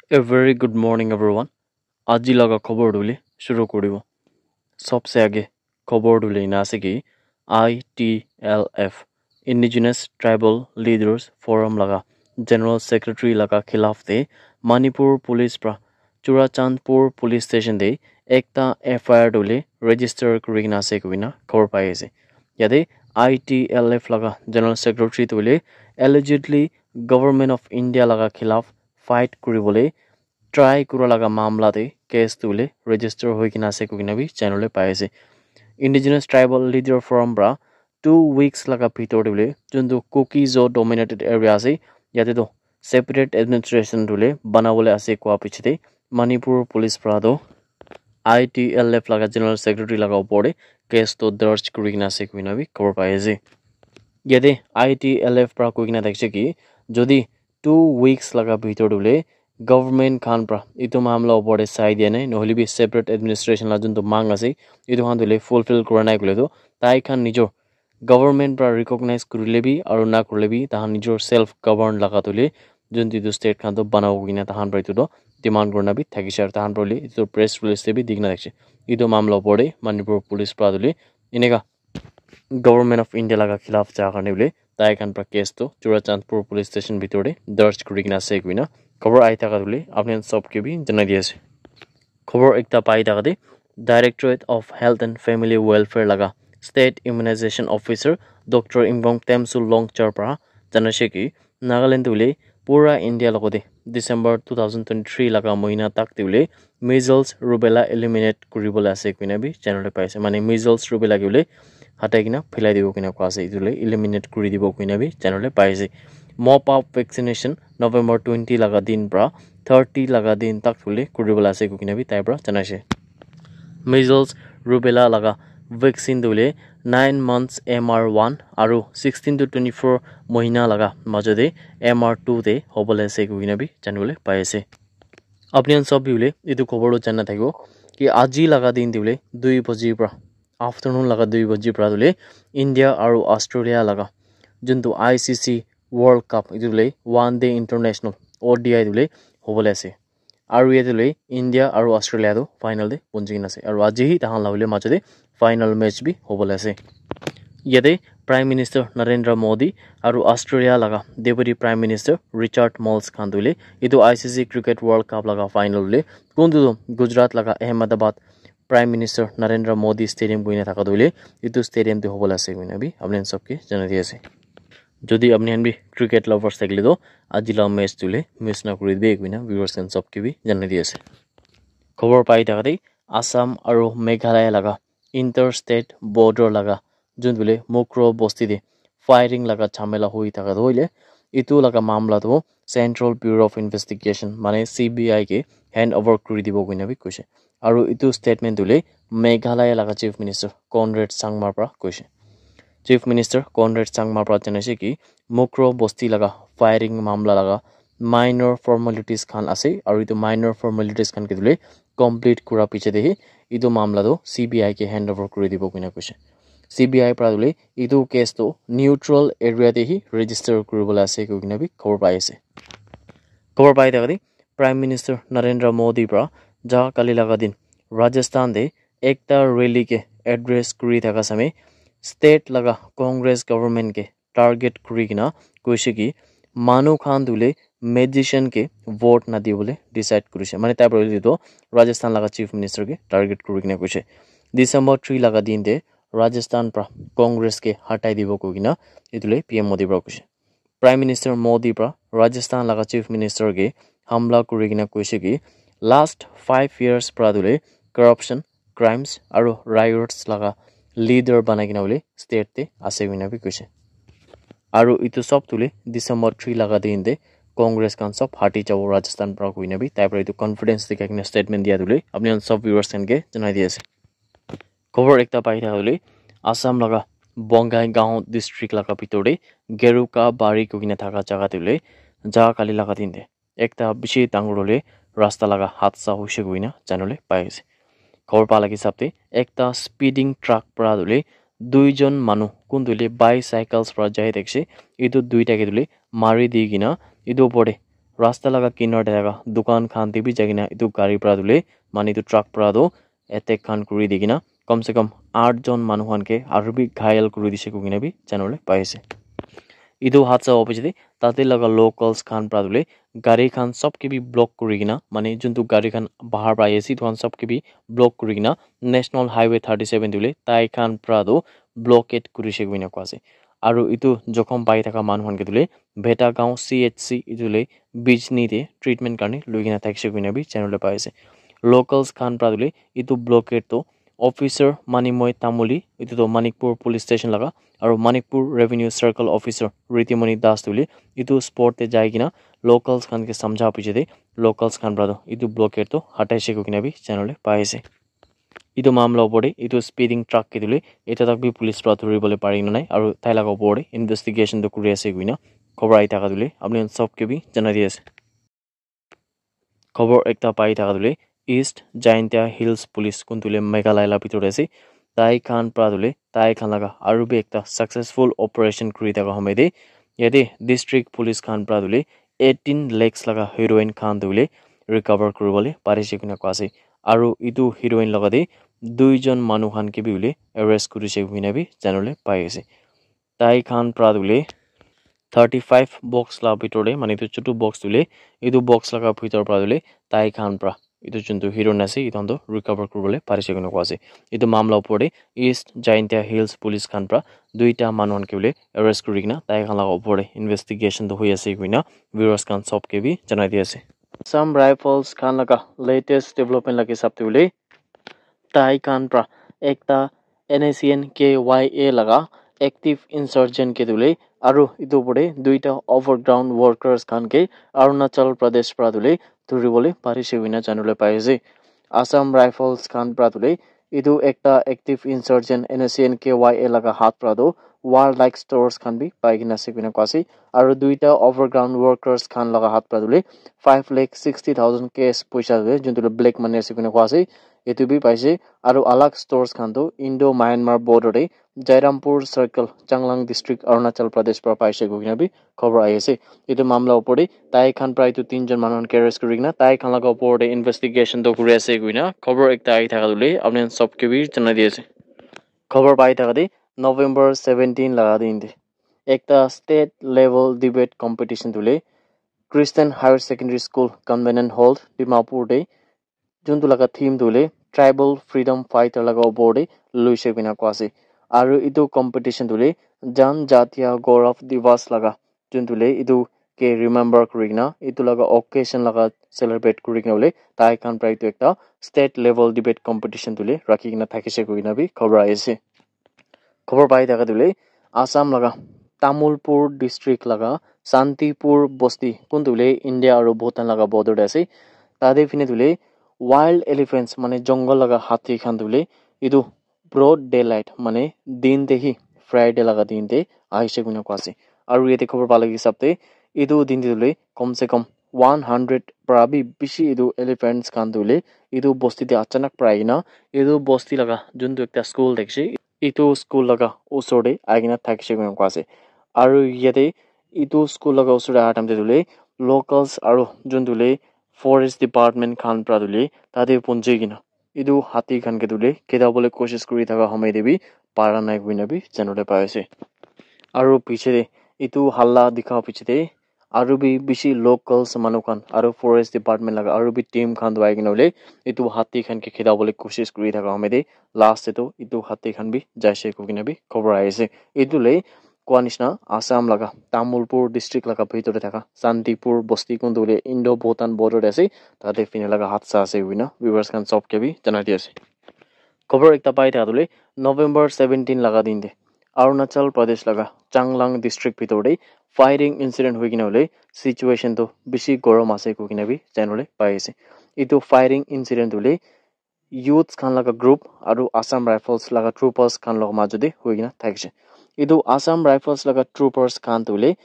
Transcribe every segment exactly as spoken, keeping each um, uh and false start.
A very good morning, everyone. Aji laga khobor tu hoile shuru koribo. Sabse aage khobor tu hoile ena ase ki I T L F, Indigenous Tribal Leaders Forum laga General Secretary laga khilaf te Manipur Police pra Churachandpur Police Station te ekta F I R tu hoile register kuri kena ase koina khobor pai ase. Yate I T L F laga General Secretary tu hoile allegedly Government of India laga khilaf fight kuribole try kura laga mamla te case tu hoile register hoi kena ase koina bi janibole pai ase. Indigenous Tribal Leader Forum pra two weeks laga bhitor te hoile juntu Kuki-Zo dominated area ase, yate toh separate administration tu hoile banabole ase koa piche te Manipur Police pra toh I T L F laga General Secretary laga opor te case toh darge kuri kena ase koina bi khobor pai ase. Yate I T L F pra koi kena thakishe ki jodi two weeks laga bhitor te hoile government khan pra etu mamla opor te sai dia nai, nohole bi separate administration la juntu mang ase, etu khan tu hoile fulfill kura nai koile tu tai khan nijor government pra recognize kurile bi aru na kurile bi tahan nijor self govern laga tu hoile juntu etu state khan tu banabo koina tahan pra etu tu demand kurina bi thakishe aru tahan pra hoile etu press release te bi dikena thakishe. Etu mamla opor te Manipur Police pra tu hoile eneka Government of India laga khilaf ja karne bole tai khan pra case tu Churachandpur Police Station bhitor te darge kuri kena ase koina khobor ahi thaka tu hoile apni khan sob ke bi janai di ase. Khobor ekta pai thaka te Directorate of Health and Family Welfare laga State Immunization Officer Doctor Imbong Temsu Longchar pra janashe ki Nagaland tu hoile pura India logote December two thousand twenty-three laga mohina tak te hoile measles, rubella eliminate kuribole ase koina bi janibole pai ase. Mane measles, rubella ke hoile hatai kena philai dibo koina koa ase, etu hoile eliminate kuri dibo koina bi janibole pai ase. Mop up vaccination November twenty laga din pra thirty laga din tak hoile kuribole ase koina bi tai pra janaishe. Measles, rubella laga vaccine tu hoile nine months M R one aru sixteen to twenty-four mohina laga majo te M R two te hobole ase koina bi janibole pai ase. Apni khan sob bi hoile etu khobor tu jana thakibo ki aji laga din te hoile dui baji pra, afternoon laga dui baji pra tu hoile India aru Australia laga juntu I C C World Cup etu hoile one day international O D I tu hoile hobole ase. Aru yate hoile India aru Australia tu final te punchi kena ase. Aru aji hi tahan la hoile majo te final match bi hobole ase. Yate Prime Minister Narendra Modi aru Australia laga Deputy Prime Minister Richard Marles khan tu hoile etu I C C Cricket World Cup laga final hoile kuntu tu Gujarat laga Ahmedabad Prime Minister Narendra Modi Stadium koina thaka tu hoile etu stadium te hobole ase koina bi apni khan sob ke janai di ase. Jodi apni khan bi cricket lovers thakile toh aji la match tu hoile miss na kuri dibi koina viewers khan sob ke bi janai di ase. Khobor pai thaka te Assam aru Meghalaya laga interstate border laga juntu hoile Mukroh bosti te firing laga jhamela hoi thaka tu hoile etu laga mamla tu Central Bureau of Investigation mane C B I ke hand over kuri dibo koina bi koishe. Aru etu statement tu hoile Meghalaya laga Chief Minister Conrad Sangma pra koishe. Chief Minister Conrad Sangma pra janaishe ki Mukroh bosti laga firing mamla laga minor formalities khan ase aru etu minor formalities khan ke tu hoile complete kura piche te hi etu mamla tu C B I ke hand over kuri dibo koina koishe. C B I pra tu hoile etu case tu neutral area te hi register kuribole ase koina bi khobor pai ase. Khobor pai thaka te Prime Minister Narendra Modi pra ja kali laga din Rajasthan te ekta rally ke address kuri thaka same state laga Congress government ke target kuri kena koishe ki manu khan tu hoile magician ke vote na dibole decide kurishe. Mane tai pra hoile tu Rajasthan laga Chief Minister ke target kuri kena koishe. December three laga din te Rajasthan pra Congress ke hatai dibo koi kena etu hoile P M Modi pra koishe. Prime Minister Modi pra Rajasthan laga Chief Minister ke hamla kuri kena koishe ki last five years pra tu hoile corruption, crimes aru riots laga leader banai kena hoile state te ase koina bi koishe. Aru etu sob tu hoile December three laga din te Congress khan sob hati jabo Rajasthan pra koina bi tai pra etu confidence dikhai kena statement dia tu hoile apni khan sob viewers khan ke janai di ase. Khobor ekta pai thaka tu hoile Assam laga Bongaigaon district laga bhitor te Geruka Bari koi kena thaka jaga te hoile ja kali laga din te ekta bishi dangor hoile rasta laga hadsa hoishe koina janibole pai ase. Khobor pa laga hisab te ekta speeding truck pra tu hoile duijon manu kuntu hoile bicycles pra jai thakishe, etu duita ke tu hoile mari di kena etu opor te Rasta laga kinar te thaka dukan khan te bi jai kena etu gari para tu hoile mane etu truck para tu attack khan kuri di kena kam se kam aath jon manu khan ke aru bi ghayal kuri dise koikena bi janibole pai ase. Etu hadsa howa piche te tate laga locals khan para tu hoile gari khan sob ke bi block kuri kena mane juntu gari khan bahar para ahi ase etu khan sob ke bi block kuri kena National Highway thirty seven tu hoile tai khan para tu blockade kuri se koikena koa ase. Aru etu jokhom pai thaka manu khan ke tu hoile Bheta Gaon C H C etu hoile Bijni te treatment karne loi kena thakise koikena bi janibole pai ase. Locals khan para tu hoile etu blockade tu officer Manimoy Tamuli etu tu Manikpur police station laga aru Manikpur revenue circle officer Ritimoni Das tu hoile etu spot te jai kena locals khan ke samjha piche te locals khan para tu etu blockade tu hatai se koikena bi janibole pai ase. Etu mamla opor te etu speeding truck ke tu hoile eta tak bi police para dhuri bole pari kena nai aru tai laga opor te investigation tu kuri ase koikena khobor ahi thaka tu hoile apni khan sob ke bi janai di ase. Khobor ekta pai thaka tu hoile East Jaintia Hills Police kun tu hoile Meghalaya la bitor te ase tai khan para tu hoile tai khan laga aru bi ekta successful operation kuri thaka home te yate district police khan para tu hoile eighteen lakhs laga heroin khan tu hoile recover kuri bole pari se koikena koa ase. Aru etu heroin laga te dui jon manu khan ke bi hoile arrest kuri se koikena bi janibole pai ase. Tai khan para tu hoile thirty five box la bitor te mane etu chutu box tu hoile etu box laga bitor para tu hoile tai khan para etu juntu heroin ase etu khan tu recover kuri bole pari se koikena koa ase. Etu mamla opor te East Jaintia Hills Police khan para duita manu khan ke hoile arrest kuri kena tai khan laga opor te investigation tu hoi ase koikena viewers khan sob ke bi janai di ase. Assam Rifles khan laga latest development laga hisab te hoile tai khan para ekta N S C N K Y A laga active insurgent ke tu hoile aru etu opor te duita overground workers khan ke Arunachal Pradesh para tu hoile dhuri bole pari se koikena janibole pai ase. Assam Rifles khan para tu hoile etu ekta active insurgent N S C N K Y A laga hath para tu warlike stores khan bi pai kena ase koikena koa ase. Aru duita overground workers khan laga hath para tu hoile five lakh sixty thousand cash poisa ase juntu tu black money ase koikena koa ase. Etu bi paise aru alag stores khan tu Indo Myanmar border te Jairampur Circle, Changlang District, Arunachal Pradesh para paise koikena bi khobor ahi ase. Etu mamla opor te tai khan para etu tin jon manu khan ke arrest kuri kena tai khan laga opor te investigation tu kuri ase koikena khobor ekta ahi thaka tu hoile apni khan sob ke bi janai di ase. Khobor pai thaka te November seventeen laga din te ekta state level debate competition tu hoile Christian Higher Secondary School Convenient Hall Dimapur te juntu laga theme tu hoile tribal freedom fighter laga opor te loise koikena koa ase. Aru etu competition tu hoile Janjatiya Gaurav Diwas laga juntu hoile etu ke remember kuri kena etu laga occasion laga celebrate kuri kena hoile tai khan para etu ekta state level debate competition tu hoile rakhi kena thakise koikena bi khobor ahi ase. Khobor pai thaka tu hoile Assam laga Tamulpur district laga Santipur bosti kun tu hoile India aru Bhutan laga border te ase. Tate phine tu hoile wild elephants mane jungle laga hathi khan tu hoile etu broad daylight mane din te hi Friday laga din te ahi se koikena koa ase. Aru yate khobor pa laga hisab te etu din te tu hoile kom se kom one hundred para bi bishi etu elephants khan tu hoile etu bosti te achanak para ahi kena etu bosti laga juntu ekta school thakise etu school laga osor te ahi kena thakise koikena koa ase. Aru yate etu school laga osor te aha time te tu hoile locals aru juntu hoile forest department khan para tu hoile tate punji kena etu hathi khan ke tu hoile kheda bole koshish kuri thaka home te bi para nai koikena bi janibole pai ase. Aru piche te etu halla dikha piche te aru bi bishi locals manu khan aru forest department laga aru bi team khan tu ahi kena hoile etu hathi khan ke kheda bole koshish kuri thaka home te last te tu etu hathi khan bi jaise koikena bi khobor ahi ase. Etu le koa nishina Assam laga Tamulpur district laga bhitor te thaka Santipur bosti kun tu hoile Indo Bhutan border te ase. Tate phine laga hath sa ase koikena viewers khan sob ke bi janai di ase. Khobor ekta pai thaka tu hoile November seventeen laga din te Arunachal Pradesh laga Changlang district bhitor te firing incident hoi kena hoile situation tu bishi gorom ase koikena bi janibole pai ase. Etu firing incident tu hoile youths khan laga group aru Assam Rifles laga troopers khan laga majo te hoi kena thakise. Etu Assam Rifles laga troopers khan tu hoile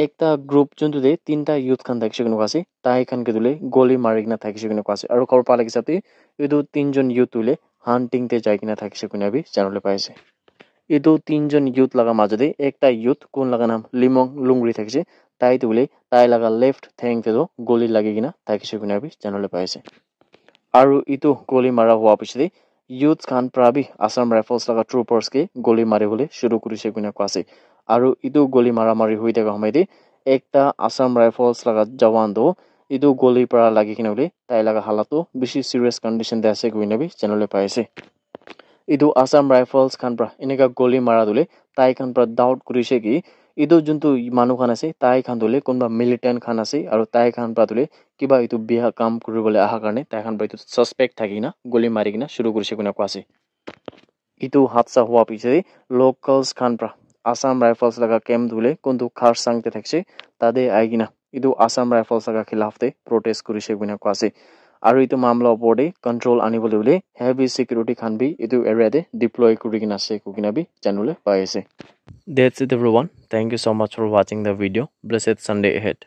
ekta group juntu te tinta youth khan thakise koikena koa ase tai khan ke tu hoile goli mari kena thakise koikena koa ase aru khobor pa laga hisab te etu tin jon youth tu hoile hunting te jai kena thakise koikena bi janibole pai ase. Etu tin jon youth laga majo te ekta youth kun laga naam Limong Lungri thakise Tai tu hoile tai laga left theng te tu goli lagi kena thakise koina bi janole pai ase. Aru etu goli mara hua piche te youths khan para bi Assam Rifles laga troopers ke goli mari bole shuru kurise koina koa ase. Aru etu goli mara mari hoi thaka hoi te ekta Assam Rifles laga jawan tu etu goli para lagi kena hoile tai laga halat tu bishi serious condition te ase koina bi janole pai ase. Etu Assam Rifles khan para eneka goli mara tu hoile tai khan para doubt kurise ki etu juntu manu khan ase tai khan tu hoile kunba militant khan ase aru tai khan para tu hoile kiba etu bia kam kuri bole aha karne tai khan para etu suspect thaki kena goli mari kena shuru kurise koina koa ase. Etu hadsa hua piche te locals khan para Assam Rifles laga camp tu hoile kuntu Kharsang te thakise tate ahi kena etu Assam Rifles laga khilaf te protest kurise koina koa ase. Aru etu mamla opor te control ani bole hoile heavy security khan bi etu area te deploy kuri kena ase koi kena bi janole pai ase. That's it everyone. Thank you so much for watching the video. Blessed Sunday ahead.